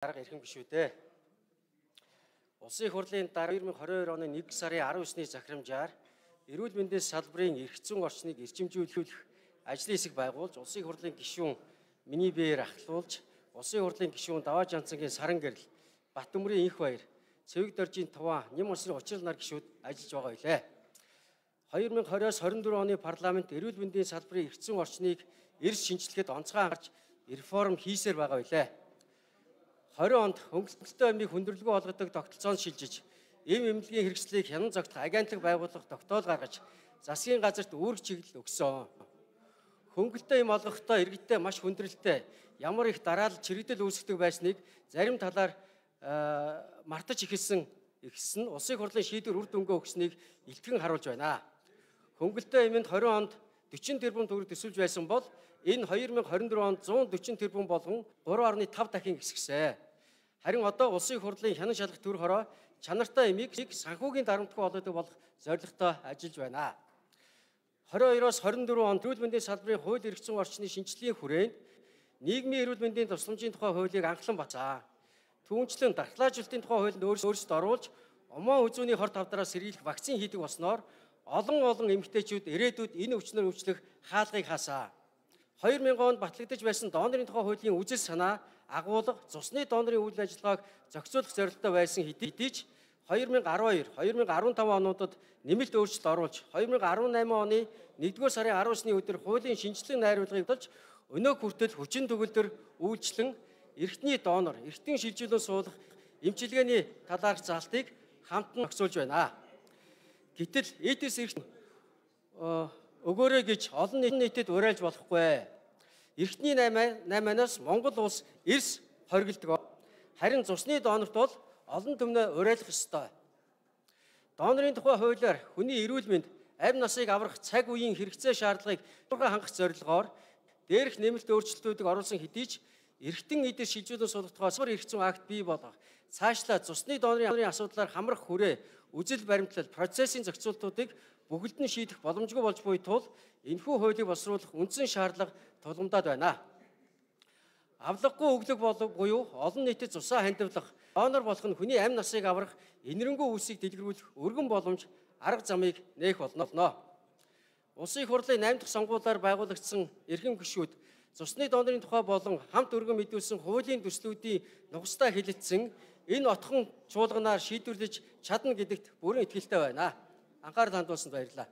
Дарга ирхэн биш үү дээ. Улсын их хурлын дараа 2022 оны 1 сарын 19-ний захирамжаар эрүүл мэндийн салбарын эрх зүйн орчныг эрчимжүүлэх ажлын хэсэг байгуулж, улсын их хурлын гишүүн миний биеэр ахлуулж, улсын их хурлын гишүүн Даваа Жанцангийн Саран гэрэл, Батөмрийн Инх баяр, Цэвэг доржийн Туваа, Ням улсын Учрал нар гишүүд ажиллаж байгаа билээ. 2020-с 24 оны парламент эрүүл мэндийн салбарын эрх зүйн орчныг эрс шинжилгээд онцгой анхаарч реформ хийсээр байгаа билээ. 20 онд хөнгөлөлтөө амийг хүндрэлгүй болгодог тогтолцоонд шилжиж, эм эмнэлгийн хэрэгслийг хянан зогтох агентлаг байгуулах тогтоол гаргаж, засгийн газарт үүрэг чиглэл өгсөн. Хөнгөлөлтөө эм олгохдоо иргэдтэй маш хүндрэлтэй, ямар их дараалал чирэгдэл үүсгдэг байсныг зарим талаар мартаж ихэлсэн улсын их хурлын шийдвэр үр дүнгээ өгснийг илтгэн харуулж байна. Хөнгөлөлтөө эмэнд 20 онд 40 тэрбум төгрөг төсөвж байсан бол энэ 2024 онд 140 тэрбум болгон 3.5 дахин ихсгэсэн. Харин одоо улсын их хурлын хянан шалгах төр хороо чанартай эмийг санхүүгийн дарамтгүй болгодог болох зорилготой ажиллаж байна. 22-оос 24 онд эрүүл мэндийн салбарын хууль эрх зүйн орчны шинжилгээний хүрээнд нийгмийн эрүүл мэндийн тусламжийн тухай хуулийг анхлан бацаа. Түүнчлэн дархлаажилтын тухай хуулинд өөрсдөө оруулж, умаа үзүүний хорт тавдраас сэргийлэх вакцин хийдэг болсноор олон эмэгтэйчүүд ирээдүйд энэ өвчнөр өвчлөх хаалгыг хаасаа. 2000 онд батлагдаж байсан донорын тухай хуулийн үзэл санаа агуулга цусны донорын үйл ажиллагааг зохицуулах зорилготой байсан хэдий ч 2012-2015 онуудад нэмэлт өөрчлөлт оруулж 2018 оны 1-р сарын 19-ний өдөр хуулийн шинжилгээ найруулгыг болж өнөө хүртэл хүчин төгөлдөр үйлчлэн эртний донор, эртний шилжүүлэн суулгах эмчилгээний талаарх заалтыг хамтан зохицуулж байна. Гэтэл эдис эрх өгөөрэй гэж олон нийтэд уриалж болохгүй. Эртний 8-аас Монгол улс эрс хоригддог. Харин цусны донорт бол олон түмнээ уриалах ёстой. Донорын тухай хуулиар хүний эрүүл мэнд, амь насыг аврах цаг үеийн хэрэгцээ шаардлагыг хангах зорилгоор дээрх нэмэлт өөрчлөлтүүдийг оруулсан хэдий ч эргэтэн эдис шилжүүлэн суулгах тухай эрх зүйн акт бий болгох, цаашлаа цусны донорын асуудлаар хамрах хүрээ, үзэл баримтлал, процессын зохицуултуудыг бүгд нь шийдэх боломжгүй болж буй тул энэхүү хуулийг боловсруулах үндсэн шаардлага тулгамдаад байна. Авлаггүй өглөг буюу олон нийтэд цусаа хандивлах, донор болох нь хүний амь насыг аврах энэрэнгүй үйлсийг дэлгэрүүлэх өргөн боломж арга замыг нээх болно. Улсын их хурлын 8 дахь сонгуулиар байгуулагдсан эрхэм гишүүд цусны донорын тухай болон хамт өргөн мэдүүлсэн хуулийн төслүүдийн нухацтай хэлэлцсэн энэ отхон чуулганаар шийдвэрлэж чадна гэдэгт бүрэн итгэлтэй байна. Анхаарал хандуулсанд баярлалаа.